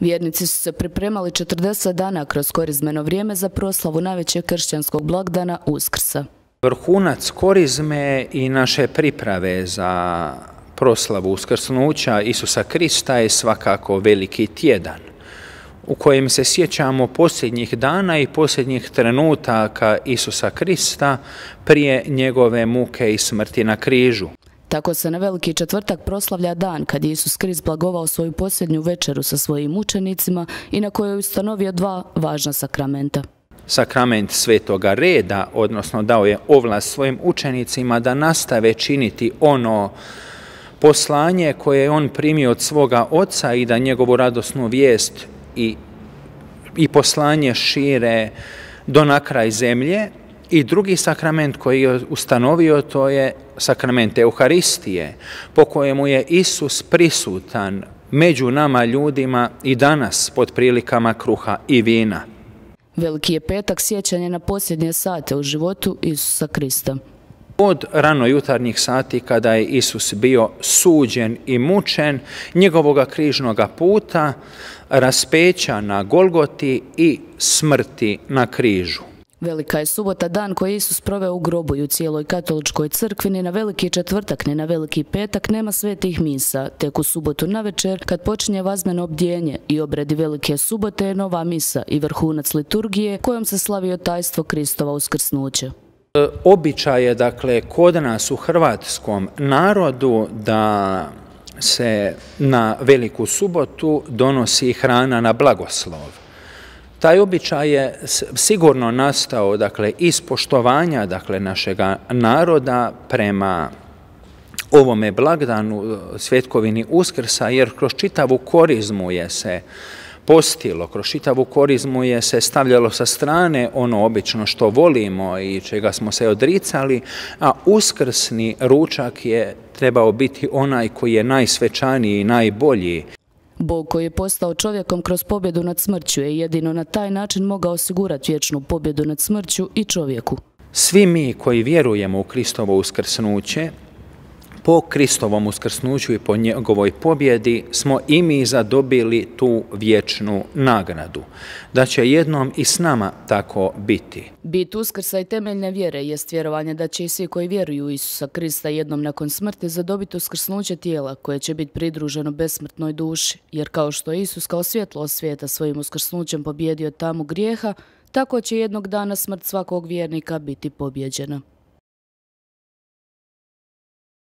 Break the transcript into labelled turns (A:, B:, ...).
A: Vjernici su se pripremali 40 dana kroz korizmeno vrijeme za proslavu najvećeg kršćanskog blagdana Uskrsa.
B: Vrhunac korizme i naše priprave za proslavu uskrsnuća Isusa Krista je svakako Veliki tjedan, u kojem se sjećamo posljednjih dana i posljednjih trenutaka Isusa Krista prije njegove muke i smrti na križu.
A: Tako se na Veliki četvrtak proslavlja dan kad je Isus Krist blagovao svoju posljednju večeru sa svojim učenicima i na kojoj je ustanovio dva važna sakramenta.
B: Sakrament svetoga reda, odnosno dao je ovlast svojim učenicima da nastave činiti ono poslanje koje je on primio od svoga oca i da njegovu radosnu vijest i poslanje šire do na kraj zemlje. I drugi sakrament koji je ustanovio, to je sakrament Euharistije, po kojemu je Isus prisutan među nama ljudima i danas pod prilikama kruha i vina.
A: Veliki je petak sjećanje na posljednje sate u životu Isusa Krista.
B: Od ranojutarnjih sati kada je Isus bio suđen i mučen, njegovoga križnoga puta, raspeća na Golgoti i smrti na križu.
A: Velika je subota, dan koji je Isus proveo u grobu i u cijeloj katoličkoj crkvi. Ni na Veliki četvrtak, ni na Veliki petak nema svetih misa. Tek u subotu navečer, kad počinje vazmeno obdjenje i obredi Velike subote, je nova misa i vrhunac liturgije kojom se slavi tajstvo Kristova uskrsnuća.
B: Običaj je, dakle, kod nas u hrvatskom narodu da se na Veliku subotu donosi hrana na blagoslov. Taj običaj je sigurno nastao, dakle, iz poštovanja, dakle, našega naroda prema ovome blagdanu, svjetkovini Uskrsa, jer kroz čitavu korizmu je se postilo, kroz čitavu korizmu je se stavljalo sa strane ono obično što volimo i čega smo se odricali, a uskrsni ručak je trebao biti onaj koji je najsvečaniji i najbolji.
A: Bog koji je postao čovjekom kroz pobjedu nad smrću je jedino na taj način mogao osigurati vječnu pobjedu nad smrću i čovjeku.
B: Svi mi koji vjerujemo u Kristovo uskrsnuće, po Kristovom uskrsnuću i po njegovoj pobjedi smo i mi zadobili tu vječnu nagradu, da će jednom i s nama tako biti.
A: Bit Uskrsa i temeljne vjere jest vjerovanje da će i svi koji vjeruju u Isusa Krista jednom nakon smrti zadobiti uskrsnuće tijela koje će biti pridruženo besmrtnoj duši, jer kao što je Isus kao svjetlo svijeta svojim uskrsnućem pobjedio tamu grijeha, tako će jednog dana smrt svakog vjernika biti pobjeđena.